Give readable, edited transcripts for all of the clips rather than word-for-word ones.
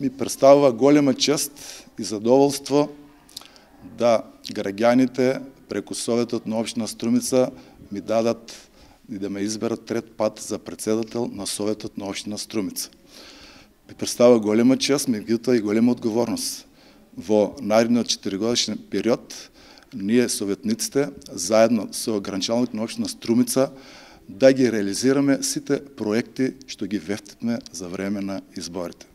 ми представува голема чест и задоволство да граѓаните преку Советот на општина Струмица ми дадат и да ме изберат трет пат за председател на Советот на општина Струмица. Ми представува голема чест, меѓутоа и голема одговорност. Во наредниот 4-годишен период, ние советниците, заедно со гранчалникот на општина Струмица, да ги реализираме сите проекти што ги вефтивме за време на изборите.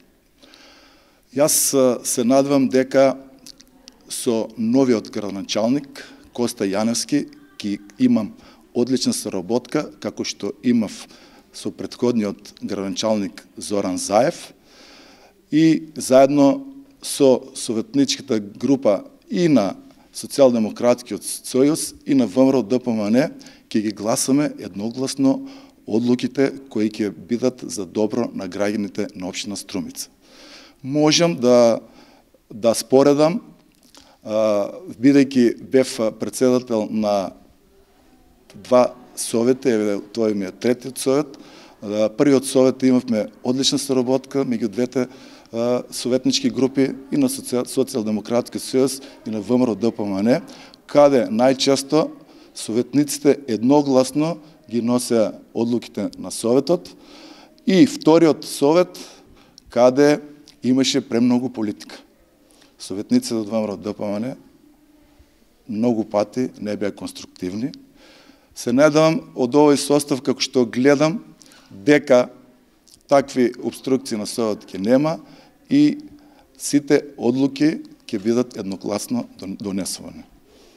Јас се надевам дека со новиот градоначалник Коста Јаневски ќе имам одлична соработка, како што имав со претходниот градоначалник Зоран Заев, и заедно со советничката група и на Социјалдемократскиот сојуз и на ВМРО ДПМН ќе ги гласаме едногласно одлуките кои ќе бидат за добро на граѓаните на општина Струмица. Можам да споредам, бидејќи бев председател на два совети, тој ми е третиот совет. Првиот совет имавме одлична соработка меѓу двете советнички групи и на Социјалдемократскиот сојуз и на ВМРО ДПМН, каде најчесто советниците едногласно ги носеа одлуките на советот, и вториот совет каде имаше премногу политика. Советниците од ВМРО ДПМН многу пати не беа конструктивни. Се надевам од овој состав, како што гледам, дека такви обструкции на совет ќе нема и сите одлуки ќе бидат едногласно донесувани.